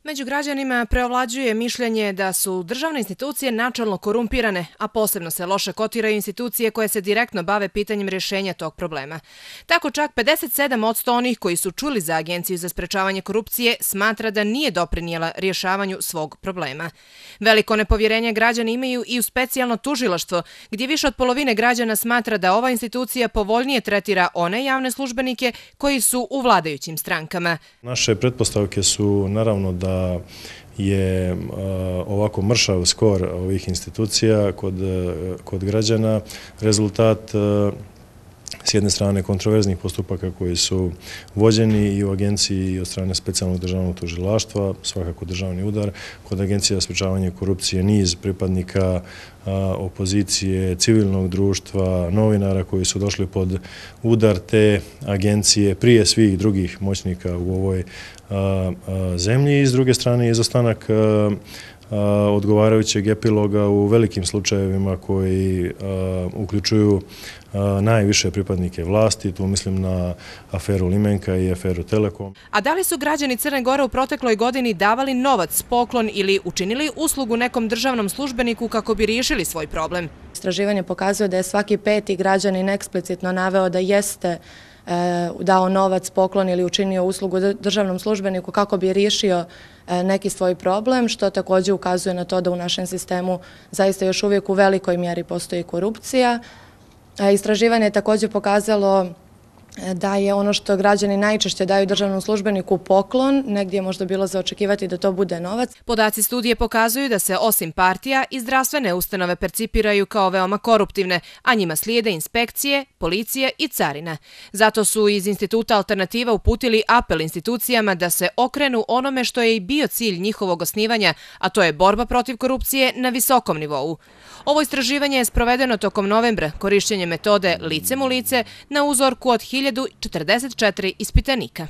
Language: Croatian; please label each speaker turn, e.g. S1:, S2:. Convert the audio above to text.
S1: Među građanima preovlađuje mišljenje da su državne institucije načelno korumpirane, a posebno se loše kotiraju institucije koje se direktno bave pitanjem rješenja tog problema. Tako čak 57% onih koji su čuli za Agenciju za sprečavanje korupcije smatra da nije doprinijela rješavanju svog problema. Veliko nepovjerenje građani imaju i u specijalno tužilaštvo, gdje više od polovine građana smatra da ova institucija povoljnije tretira one javne službenike koji su u vladajućim strankama.
S2: Naše pretpostavke su naravno da je ovako mršav skor ovih institucija kod građana rezultat s jedne strane kontroverznih postupaka koji su vođeni i u agenciji i od strane specijalnog državnog tužilaštva, svakako državni udar. Kod Agencije za sprečavanje korupcije niz pripadnika opozicije, civilnog društva, novinara koji su došli pod udar te agencije prije svih drugih moćnika u ovoj zemlji i s druge strane izostanak odgovarajućeg epiloga u velikim slučajevima koji uključuju najviše pripadnike vlasti, tu mislim na aferu Limenka i aferu Telekom.
S1: A da li su građani Crne Gore u protekloj godini davali novac, poklon ili učinili uslugu nekom državnom službeniku kako bi riješili svoj problem?
S3: Istraživanje pokazuje da je svaki peti građanin eksplicitno naveo da jeste dao novac, poklon ili učinio uslugu državnom službeniku kako bi riješio neki svoj problem, što također ukazuje na to da u našem sistemu zaista još uvijek u velikoj mjeri postoji korupcija. Istraživanje je također pokazalo da je ono što građani najčešće daju državnom službeniku poklon, negdje je možda bilo za očekivati da to bude novac.
S1: Podaci studije pokazuju da se osim partija i zdravstvene ustanove percipiraju kao veoma koruptivne, a njima slijede inspekcije, policije i carina. Zato su iz Instituta Alternativa uputili apel institucijama da se okrenu onome što je i bio cilj njihovog osnivanja, a to je borba protiv korupcije na visokom nivou. Ovo istraživanje je sprovedeno tokom novembra korišćenjem metode licem u lice na uzorku od 1044 ispitanika.